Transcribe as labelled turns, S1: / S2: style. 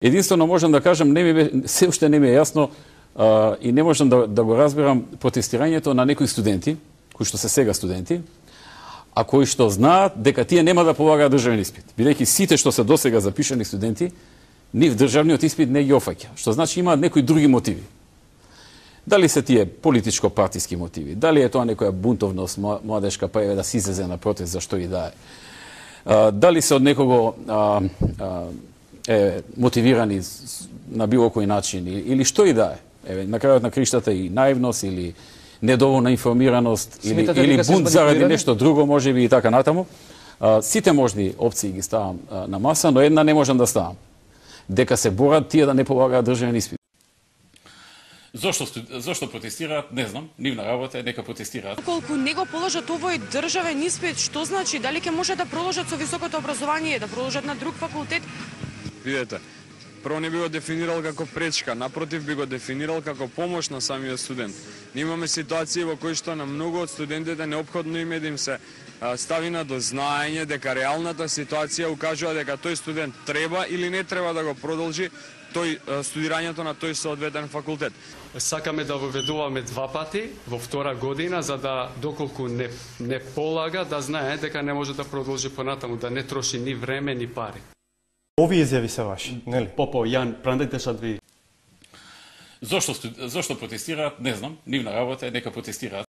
S1: Единствено можам да кажам, се уште не ми е јасно и не можам да го разберам протестирањето на некои студенти, кои што се сега студенти, а кои што знаат дека тие нема да полагаат државен испит. Бидејќи сите што се досега запишани студенти, нив државниот испит не ги офаќа, што значи имаат некои други мотиви. Дали се тие политичко-партиски мотиви, дали е тоа некоја бунтовност младешка, па е да се излезе на протест за што и да е. Дали се од некого мотивирани на било кој начин или што и да е. На крајот на криштата и наивност или недоволна информираност или бунт заради нешто друго, можеби и така натаму. Сите можни опции ги ставам на маса, но една не можам да ставам. Дека се борат тие да не полагаат државен испит. Зошто протестираат, не знам, нивна работа е, нека протестираат.
S2: Колку не го положат овој државен испит, што значи? Дали ќе може да продолжат со високото образование, да продолжат на друг факултет?
S3: Видете, прво не би го дефинирал како пречка, напротив би го дефинирал како помош на самиот студент. Ние имаме ситуации во кои што на многу од студентите неопходно им е да им се стави на дознаење дека реалната ситуација укажува дека тој студент треба или не треба да го продолжи студирањето на тој соодветен факултет.
S4: Сакаме да воведуваме 2 пати во втора година, за да доколку не полага, да знае дека не може да продолжи понатаму, да не троши ни време ни пари.
S5: Овие изјави се ваши, нели?
S4: Попо, Јан, прандете шад ви.
S1: Зошто протестираат, не знам, нивна работа е, нека протестираат.